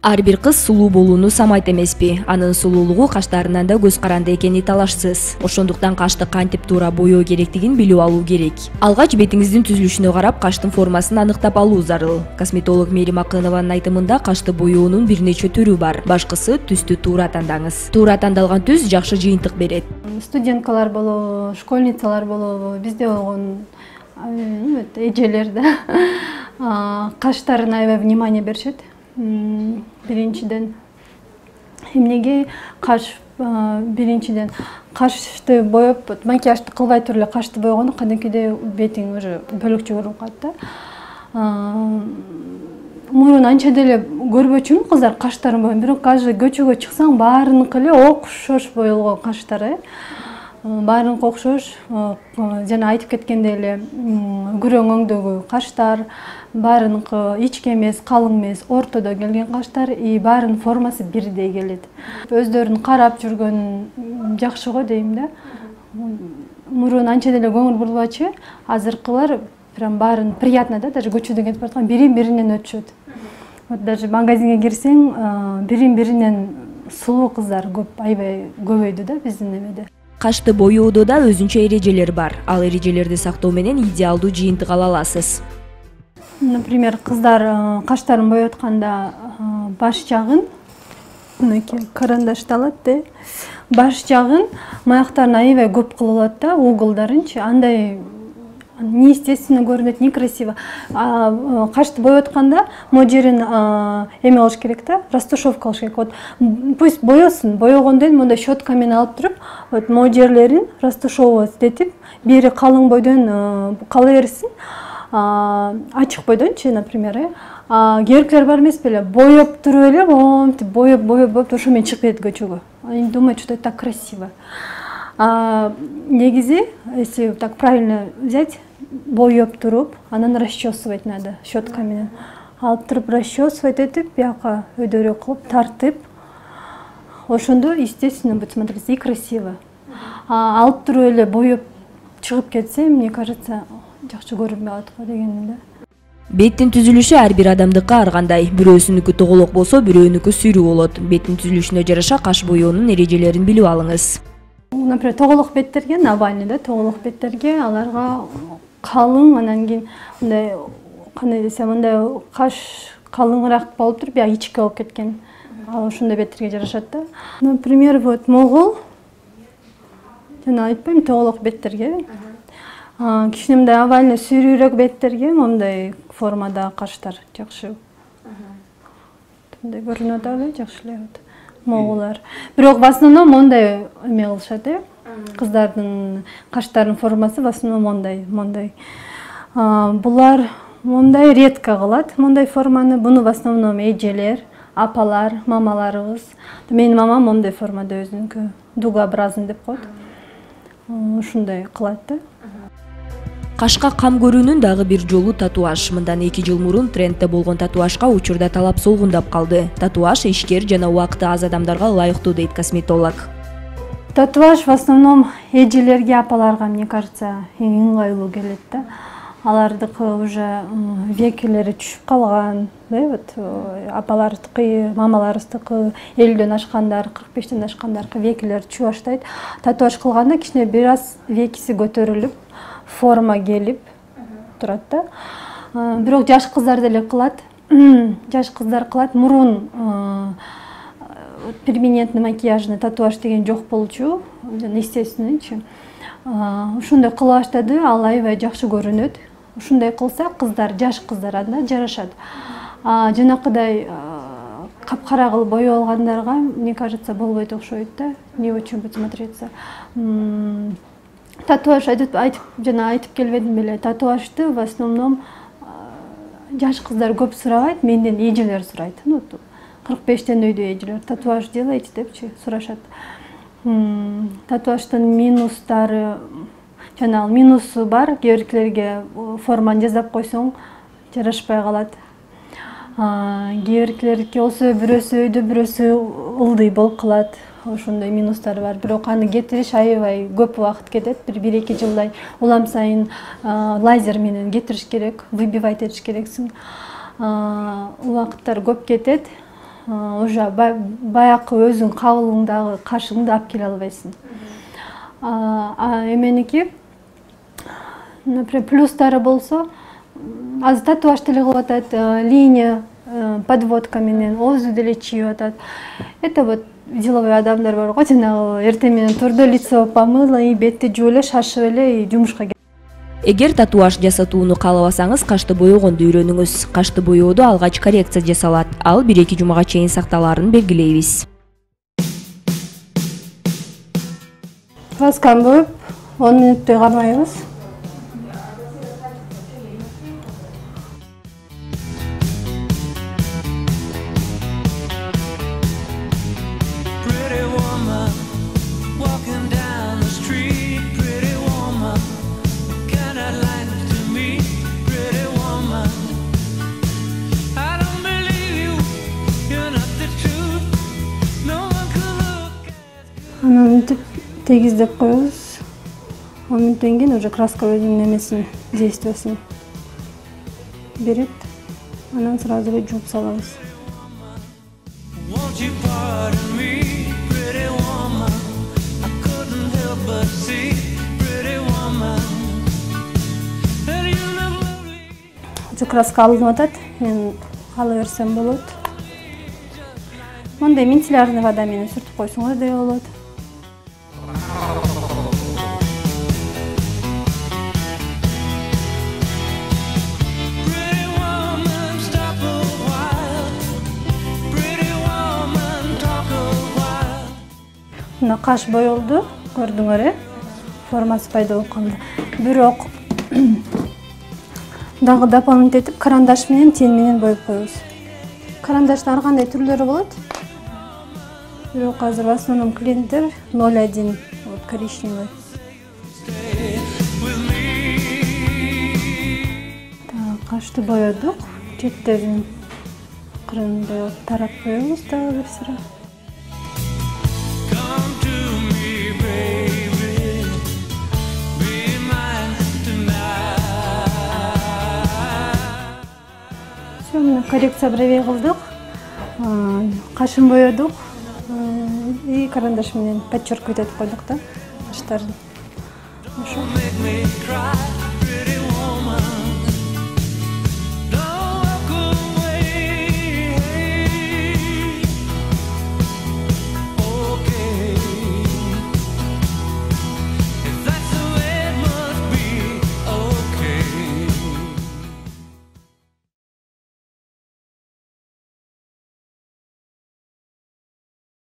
Ар бир кыз сулуу болууну самайт эмеспи. Анын сулуулугу каштарынан да көз каранды экени талашсыз. Ошондуктан кашты кантип туура боёо керектигин билип алуу керек. Алгач бетиңиздин түзүлүшүнө карап каштын формасын аныктап алуу зарыл. Косметолог Мерим Акынованын айтымында кашты боёонун бир нече түрү бар. Башкысы түстү туура тандаңыз. Туура тандалган түс жакшы жыйынтык берет. Студенткалар болобу, школьницалар болобу, бизде болгон эжелер да каштарына аябай внимание беришет. Биринчиден эмнеге биринчиден кашты боеп, макияжды кылбай туруп эле кашты боегондо кадимкидей бетиң уже бөлөкчө көрүнүп калат да. Мурун анча деле көрбөчүмүн кыздар каштарын боёгон, бирок азыр көчөгө чыксаң баарыныкы эле окшош боелгон каштар. Баарыныкы окшош, жана айтып кеткендей эле күрөң өңдөгү каштар, баарыныкы ичке эмес, калың эмес, ортодо келген каштар, баарынын формасы бирдей келет. Өздөрүн карап жүргөн жакшы го дейм да. Мурун анча деле көңүл бурбачу, азыркылар прям баарын приятно да, даже көчөдөн кетип бараткан бирин-биринен өтүшөт. Вот даже магазинге кирсең, бирин-биринен сулуу кыздар көп, аябай көбөйдү да биздин эмеде. Кашты боёодо да өзүнчө эрежелер бар. Ал эрежелерди сактоо менен идеалдуу жыйынтык ала аласыз. Например, кыздар каштарын боётканда баш жагын, мынакей карандашты алат, баш жагын, маяктарын аябай көп кылып алат да, уголдарынчы, андай неестественно көрүнөт, некрасиво. Кашты боётканда могу жерин эме кылыш керек да, растушевка кылыш керек. Вот пусть боёсун, боёгондон кийин мындай щетка менен алып туруп, вот могу жерлерин растушевывать, бери калың бойдон кала берсин, ачык бойдончу, например, керектер бар эмес беле, боеп туруп эле, монтип боеп ошо менен чыгып кетет көчөгө. Они думают, что это так красиво. Негизи, если так правильно взять, боеп туруп, анан расчесывать надо щетка менен. Алып туруп расчесывать этип, бияка өйдөрү кылып, тартып, ошондо естественно будет смотреться и красиво. Алып туруп эле боеп чыгып кетсе, мне кажется, жакшы көрүнбөй калат го дегеним да. Беттин түзүлүшү ар бир адамдыкы ар кандай. Бирөөсүнүкү тоголок болсо, бирөөнүкү сүйрүү болот. Беттин түзүлүшүнө жараша каш боёонун эрежелерин билип алыңыз. Например, тоголок беттерге, овальный да, тоголок беттерге аларга калың, анан кийин мындай, кандай десем, мындай каш калыңыраак болуп туруп, бияк ичке болуп кеткен. Ошондой беттерге жарашат да. Например, вот могул, жана айтпайм, тоголок беттерге. Кичине мындай овальный сүйрүүрөөк беттерге мындай формада каштар жакшы. Мындай көрүнөт эле, жакшы эле могулар. Бирок в основном мондай эме кылышат, кыздардын каштарынын формасы в основном мондай. Булар мондай редко кылат, мондай форманы. Буну в основном эжелер, апалар, мамаларыбыз. Менин мамам мондай формада өзүнүкү дугообразный деп коет. Ушундай кылат да. Кашка кам көрүүнүн дагы бир жолу татуаж. Мындан 2 жыл мурун трендте болгон татуажга учурда талап солгундап калды. Татуаж ишкер жана убакыты аз адамдарга ылайыктуу дейт косметолог. Татуаж в основном эжелерге, апаларга, мне кажется, эң ыңгайлуу келет да. Алардыкы уже векилери түшүп калган, вот апалардыкы, мамаларыбыздыкы 50дөн ашкандар, 45ден ашкандаркы векилери түшүп баштайт. Татуаж кылганда кичине бир аз векиси көтөрүлүп, форма келип турат да. Бирок жаш кыздар деле кылат. Жаш кыздар кылат. Мурун перманентный макияжный татуаж деген жок болчу, естественныйчы. Ушундай кыла баштады, ал аябай жакшы көрүнөт. Ушундай кылса кыздар, жаш кыздар анда жарашат. Жанакыдай капкара кылып боеп алгандарга, мне кажется, болбойт окшойт да. Не очень будет смотреться. Татуаж жана айтып келбедим беле. Татуажды в основном жаш кыздар көп сурабайт, менден эжелер сурайт. 45тен өйдө эжелер татуаж делайте депчи сурашат. Татуаждын минустары, жана минусу бар, кээбиркилерге форманы жасап койсоң жарашпай калат. Кээбиркилерге болсо бирөөсү өйдө, бирөөсү ылдый болуп калат. Ошондой минустары бар. Бирок аны кетириш аябай көп убакыт кетет. 1-2 жылдай улам сайын лазер менен кетириш керек, выбивать этиш керексиң. Убакыттар көп кетет. уже баякы өзүң кабылыңдагы кашыңды алып келе албайсың. Эменики, например, плюстары болсо, азыр татуаж деле кылып атат, линия, подводка менен оозу деле чийип атат. Это вот деловой адамдар бар го, жанагы эртең менен турду, лицо помыла, и бетти жууп эле, шашып эле и жумушка. Эгер татуаж жасатууну каалабасаңыз, кашты боёгонду үйрөнүңүз. Кашты боёодо алгач коррекция жасалат. Ал 1-2 жумага чейин сакталаарын белгилейбиз. Красканы боюп 10 мүнөттөй кармайбыз. Анан мынтип тегиздеп коебуз. 10 мүнөттөн кийин уже краска өзүнүн эмесин, действиясын берет. Анан сразу эле жууп салабыз. Уже краска алынып атат. Мен ала берсем болот. Мондай мицеллярный вода менен сүртүп койсоңор деле болот. Мына каш боелду, көрдүңөр, формасы пайда болуп калды. Бирок дагы дополнительно этип карандаш менен тен менен боюп коебуз. Карандаштын ар кандай түрлөрү болот. Бирок азыр в основном клиенттер 0,1 вот коричневый. Кашты боёдук, четтерин кырын боеп тарап коебуз дагы бир сыра. Коррекция бровей кылдык, кашын боёдук и карандаш менен подчеркивать этип койдук да каштарын. Ошо.